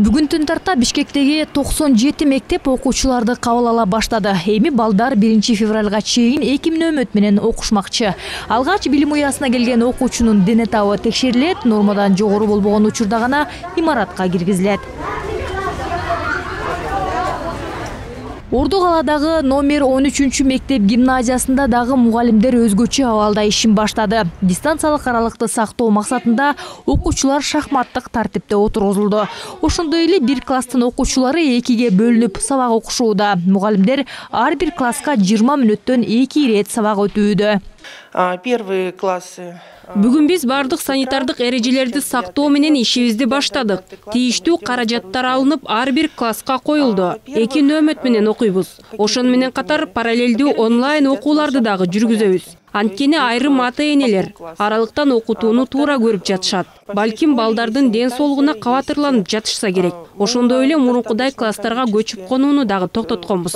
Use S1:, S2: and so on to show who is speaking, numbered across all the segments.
S1: Бүгүн түн тарта Бишкектеги 97 мектеп окуучуларды кабыл ала баштады. Эми балдар 1 февралга чейин 2 нөмөт менен окушмакчы. Алгач билим уясына келген окуучунун дене табы текшерилет, нормадан жогору болбогон учурда гана имаратка киргизилет. Орду каладагы номер 13 мектеп гимназиясында дагы мугалимдер өзгөчө абалда ишин баштады. Дистанциялык аралыкты сактоо максатында окуучулар шахматтык тартипте отургузулду. Ошондой эле бир класстын окуучулары 2ге бөлүнүп сабак окушууда. Мугалимдер ар бир класска 20 мүнөттөн 2 ирет сабак өтүүдө.
S2: Первые классы.
S3: Бүгүн биз бардык санитардык эрежелерди сактоо менен ишибизди баштадык. Тийиштүү каражаттар алынып, ар бир класска коюлду. 2 нөмөт менен окуйбуз. Ошону менен катар параллелдүү онлайн окууларды дагы жүргүзөбүз. Анткени айрым ата-энелер аралыктан окутууну туура көрүп жатышат. Балким балдардын ден соолугуна кабатырланып жатышса керек. Ошондой эле мурункудай класстарга көчүп конууну дагы токтотконбуз.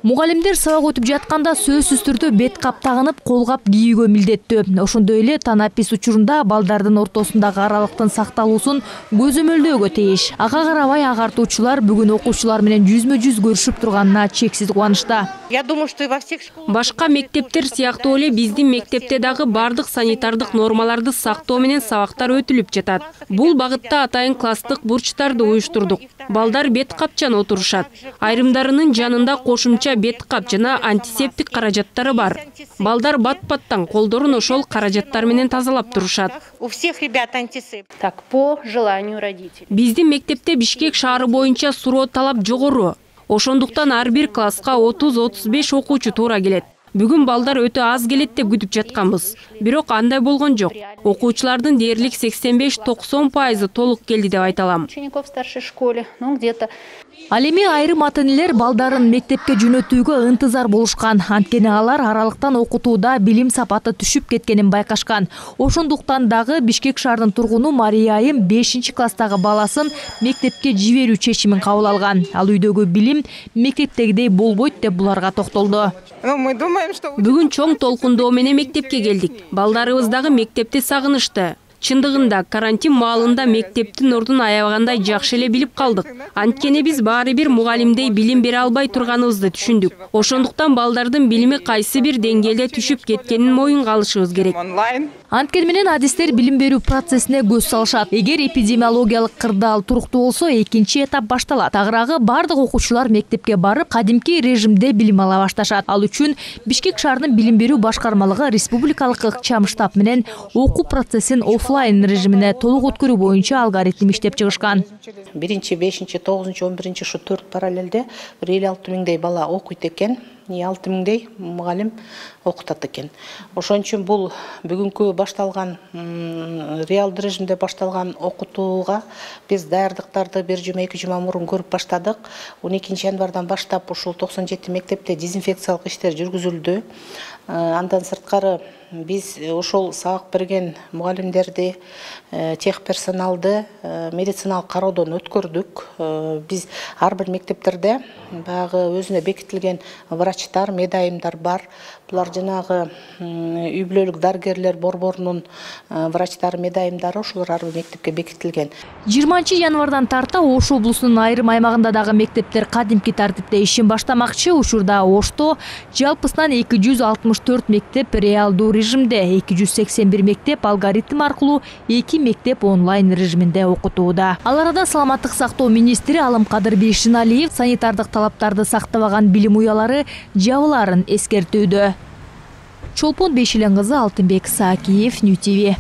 S1: Мугалимдер сабак өтүп жатканда сөзсүз түрдө бет кап тагынып, кол кап кийүүгө милдеттүү. Ошондой эле танапис учурунда балдардын ортосундагы аралыктын сакталуусун көзөмөлдөөгө тийиш. Ага карабай агартуучулар бүгүн окуучулар менен жүзмө-жүз көрүшүп турганына чексиз кубанычта.
S3: Башка мектептер сыяктуу эле биздин мектепте дагы бардык санитардык нормаларды сактоо менен сабактар өтүлүп жатат. Бул багытта атайын класстык бурчтарды уюштурдук. Балдар бет капчан отурушат. Айрымдарынын жанында кошумча бет кап жана антисептик каражаттары бар. Балдар бат-баттан колдорун ошол каражаттар менен тазалап турушат.
S4: Так, по желанию родителей.
S3: Биздин мектепте Бишкек шаары боюнча суроо талап жогору. Ошондуктан ар бир класска 30-35 окуучу туура келет. Бүгүн балдар өтө аз келет деп күтүп жатканбыз. Бирок андай болгон жок. Окуучулардын дээрлик 85-90% толук келди деп айта алам.
S4: Учеников в старшей школе, где-то.
S1: Ал эми айрым ата-энелер балдарын мектепке жөнөтүүгө ынтызар болушкан. Анткени алар аралыктан окутууда билим сапаты түшүп кеткенин байкашкан. Ошондуктан дагы Бишкек шаарынын тургуну Мария Айым 5 класстагы баласын мектепке жиберүү чечимин кабыл алган. Ал үйдөгү билим мектептегидей болбойт деп буларга токтолду.
S3: Бүгүн чоң толкундоо менен мектепке келдик. Балдарыбыз дагы мектепти сагынышты. Чындыгында карантин маалында мектептин ордун аябагандай жакшы эле билип калдык. Анткени биз баары бир мугалимдей билим бере албай турганыбызды түшүндүк. Ошондуктан балдардын билими кайсы бир деңгээлде түшүп кеткенин моюнга алышыбыз керек.
S1: Анткени менен адистер билим берүү процессине көз салышат. Эгер эпидемиологиялык кырдаал туруктуу болсо, экинчи этап башталат. Тагыраагы бардык окуучулар мектепке барып, кадимки режимде билим ала башташат. Ал үчүн Бишкек шаарынын билим берүү башкармалыгы республикалык ыкчам штаб менен окуу процессин офлайн режимине толук өткөрүү боюнча алгоритм иштеп чыгышкан.
S5: 1, 5, 9, 11 ушу 4 параллелде 56 миңдей бала окуйт экен. 6 миңдей мугалим окутат экен. Ошон үчүн бул бүгүнкү башталган реалдуу режимде башталган окутууга биз даярдыктарды 1 жума 2 жума мурун көрүп баштадык. 12 январдан баштап ушул 97 мектепте дезинфекциялык иштер жүргүзүлдү. Андан сырткары биз ошол сабак берген мугалимдерди, тех персоналды медициналык кароодон өткөрдүк. Биз ар бир мектептерде баягы өзүнө бекитилген врачтар, медайымдар бар. Булар жанагы үй бүлөлүк дарыгерлер борборунун врачтары, медайымдары ошолор ар бир мектепке бекитилген.
S1: 20 январдан тарта Ош облусунун айрым аймагында дагы мектептер кадимки тартипте ишин баштамакчы. Учурда Ошто жалпысынан 264 мектеп реалдуу режимде, 281 мектеп алгоритм аркылуу, 2 мектеп онлайн режиминде окутууда. Ал арада саламаттык сактоо министри Алымкадыр Бейшеналиев санитардык талаптарды сактабаган билим уялары жабыларын эскертүүдө. Чолпон Бейшелен кызы, Алтынбек Саакиев, Нью ТВ.